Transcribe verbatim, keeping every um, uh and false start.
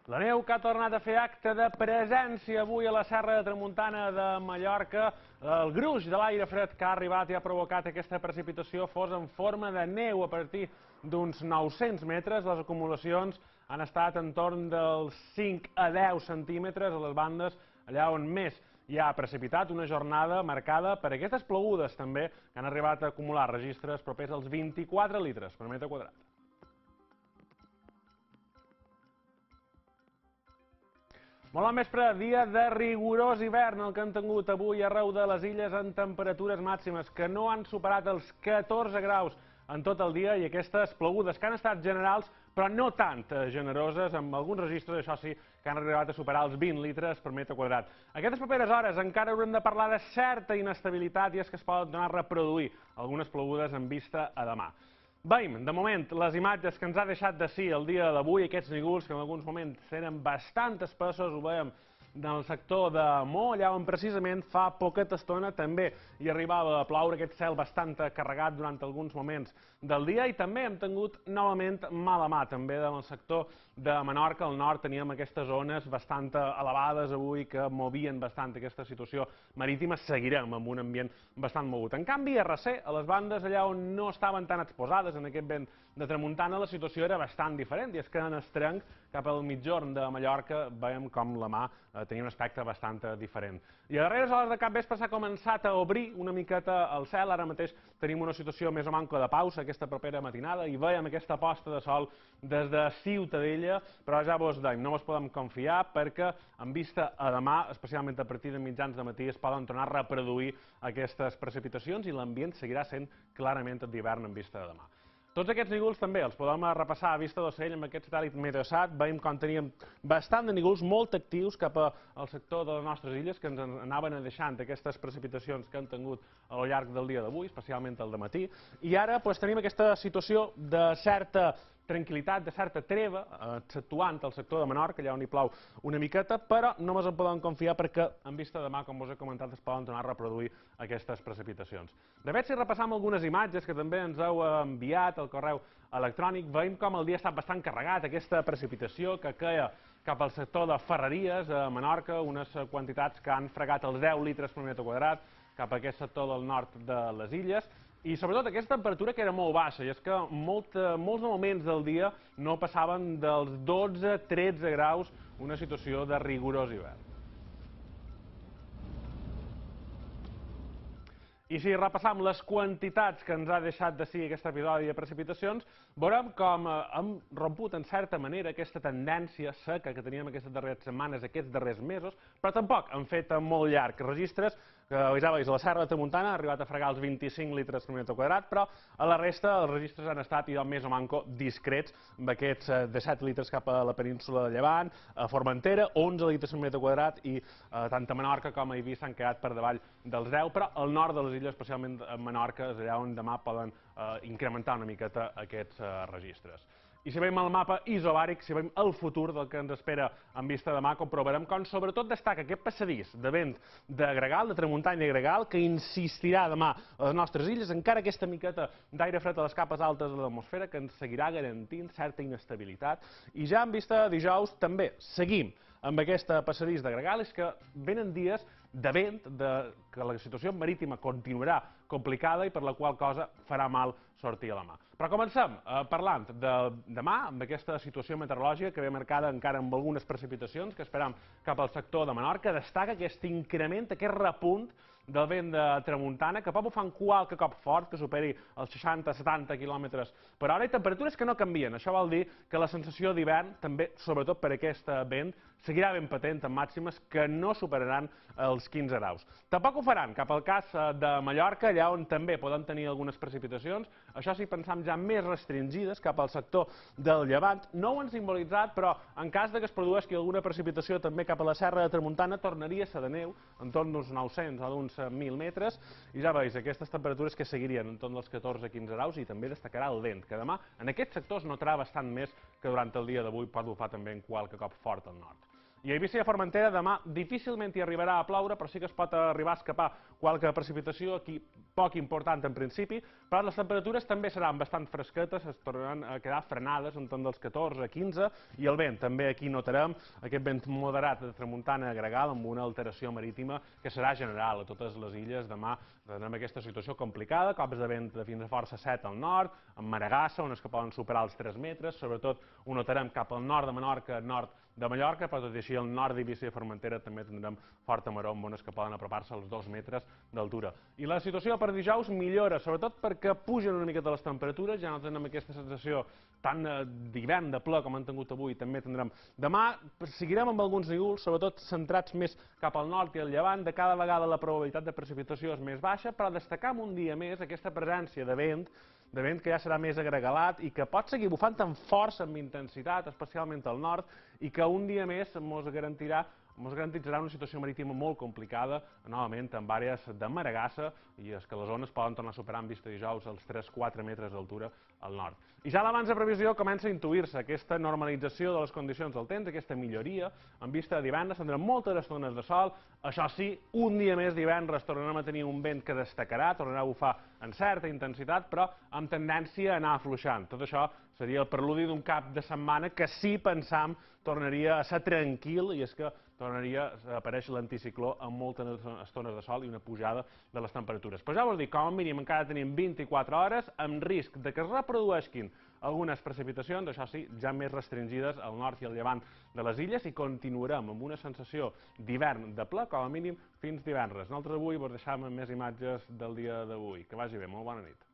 La neu que ha tornat a fer acte de presència avui a la Serra de Tramuntana de Mallorca. El gruix de l'aire fred que ha arribat i ha provocat aquesta precipitació fos en forma de neu a partir d'uns nou-cents metres. Les acumulacions han estat en torn dels cinc a deu centímetres a les bandes, allà on més hi ha precipitat, una jornada marcada per aquestes plogudes també que han arribat a acumular registres propers als vint-i-quatre litres per metre quadrat. Molt bon vespre, dia de rigorós hivern el que han tingut avui arreu de les illes amb temperatures màximes que no han superat els catorze graus en tot el dia i aquestes plogudes que han estat generals però no tant generoses, amb alguns registres, això sí, que han arribat a superar els vint litres per metre quadrat. Aquestes properes hores encara haurem de parlar de certa inestabilitat i és que es poden donar a reproduir algunes plogudes en vista a demà. Veiem, de moment, les imatges que ens ha deixat de sí el dia d'avui, aquests nígols que en alguns moments eren bastant espessos, ho veiem en el sector de Mo, allà on precisament fa poqueta estona també hi arribava a ploure aquest cel bastant carregat durant alguns moments del dia i també hem tingut novament mala mà també en el sector de Menorca, al nord teníem aquestes zones bastant elevades avui que movien bastant aquesta situació marítima, seguirem amb un ambient bastant mogut. En canvi, a Recer, a les bandes allà on no estaven tan exposades en aquest vent de tramuntana, la situació era bastant diferent i és que en Estrenc, cap al mitjorn de Mallorca, veiem com la mà tenia un aspecte bastant diferent. I a darreres hores de capvespre s'ha començat a obrir una miqueta el cel, ara mateix tenim una situació més o manca de pausa aquesta propera matinada i veiem aquesta posta de sol des de Ciutadella, però ja vos deim, no vos podem confiar perquè en vista a demà, especialment a partir de mitjans de matí, es poden tornar a reproduir aquestes precipitacions i l'ambient seguirà sent clarament d'hivern en vista de demà. Tots aquests nígols també els podem repassar a vista d'ocell amb aquest satèl·lit Meteosat. Veiem com teníem bastant de nígols molt actius cap al sector de les nostres illes que ens anaven deixant aquestes precipitacions que han tingut a lo llarg del dia d'avui, especialment al dematí. I ara tenim aquesta situació de certa tranquil·litat, de certa treva, exceptuant el sector de Menorca, allà on hi plou una miqueta, però no ens en podem confiar perquè en vista de demà, com us he comentat, es poden tornar a reproduir aquestes precipitacions. De fet, si repassam algunes imatges que també ens heu enviat al correu electrònic, veiem com el dia ha estat bastant carregat, aquesta precipitació que queia cap al sector de Ferreries, a Menorca, unes quantitats que han fregat els deu litres per metre quadrat cap a aquest sector del nord de les illes, i sobretot aquesta temperatura que era molt baixa, i és que molts moments del dia no passaven dels dotze a tretze graus, una situació de rigorós hivern. I si repassam les quantitats que ens ha deixat de sí aquest episodi de precipitacions, veurem com hem romput en certa manera aquesta tendència seca que teníem aquestes darreres setmanes, aquests darrers mesos, però tampoc han fet molt llarg registres, que ja veus, la Serra de Tramuntana ha arribat a fregar els vint-i-cinc litres per metre quadrat, però a la resta els registres han estat més o manco discrets, amb aquests disset litres cap a la península de Llevant, a Formentera, onze litres per metre quadrat, i tant a Menorca com a Eivissa s'han quedat per davall dels deu, però al nord de les illes, especialment a Menorca, és allà on demà poden incrementar una miqueta aquests registres. I si veiem el mapa isobàric, si veiem el futur del que ens espera en vista de demà, comprovarem com sobretot destaca aquest passadís de vent de gregal, de tramuntana i gregal, que insistirà demà a les nostres illes, encara aquesta miqueta d'aire fred a les capes altes de l'atmosfera, que ens seguirà garantint certa inestabilitat. I ja en vista de dijous també seguim amb aquest passadís de gregal, és que venen dies de vent, que la situació marítima continuarà complicada i per la qual cosa farà mal sortir a la mà. Però comencem parlant de demà, amb aquesta situació meteorològica que ve marcada encara amb algunes precipitacions que esperam cap al sector de Menorca. Destaca aquest increment, aquest repunt del vent de tramuntana, que pot bufar qualque cop fort, que superi els seixanta a setanta quilòmetres per hora, i temperatures que no canvien. Això vol dir que la sensació d'hivern, també, sobretot per aquest vent, seguirà ben patent en màximes que no superaran els quinze graus. Tampoc ho faran cap al cas de Mallorca, allà on també poden tenir algunes precipitacions, això sí, pensam ja més restringides cap al sector del Llevant. No ho han simbolitzat, però en cas que es produeixi alguna precipitació també cap a la Serra de Tramuntana, tornaria a ser de neu, entorn d'uns nou-cents o d'uns mil metres, i ja veus, aquestes temperatures que seguirien entorn dels catorze a quinze graus, i també destacarà el vent, que demà en aquests sectors notarà bastant més que durant el dia d'avui pot bufar també en qualque cop fort al nord. I a Eivissa i a Formentera demà difícilment hi arribarà a ploure, però sí que es pot arribar a escapar qualque precipitació, aquí poc important en principi, però les temperatures també seran bastant fresquetes, es tornaran a quedar frenades entorn dels catorze a quinze, i el vent també aquí notarem aquest vent moderat de tramuntana gregal amb una alteració marítima que serà general a totes les illes. Demà tindrem aquesta situació complicada, cops de vent de fins a força set al nord, amb maregassa, on es que poden superar els tres metres, sobretot ho notarem cap al nord de Menorca, nord de Mallorca, però tot i així al nord d'Eivissa i Formentera també tindrem forta maror amb ones que poden apropar-se als dos metres d'altura. I la situació per dijous millora, sobretot perquè pugen una miqueta les temperatures, ja no tenim aquesta sensació tan d'hivern, de ple, com han tingut avui, també tindrem. Demà seguirem amb alguns núvols, sobretot centrats més cap al nord i al llevant, de cada vegada la probabilitat de precipitació és més baixa, però destacar un dia més aquesta presència de vent, de vent que ja serà més agregalat i que pot seguir bufant amb força, amb intensitat, especialment al nord, i que un dia més ens garantirà ens garantitzarà una situació marítima molt complicada, novament amb àrees de maregassa, i és que les ones poden tornar a superar en vista dijous els tres a quatre metres d'altura al nord. I ja l'abans de previsió comença a intuir-se aquesta normalització de les condicions del temps, aquesta milloria, en vista de divendres tindrem moltes estones de sol, això sí, un dia més divendres tornarem a tenir un vent que destacarà, tornarà a bufar en certa intensitat, però amb tendència a anar afluixant. Tot això seria el preludi d'un cap de setmana que sí pensam tornaria a ser tranquil, i és que tornaria a aparèixer l'anticicló amb moltes estones de sol i una pujada de les temperatures. Però ja vos dic, com a mínim encara tenim vint-i-quatre hores amb risc de que es reprodueixin algunes precipitacions, això sí, ja més restringides al nord i al llevant de les illes, i continuarem amb una sensació d'hivern de ple, com a mínim fins divendres. Nosaltres avui vos deixam amb més imatges del dia d'avui. Que vagi bé, molt bona nit.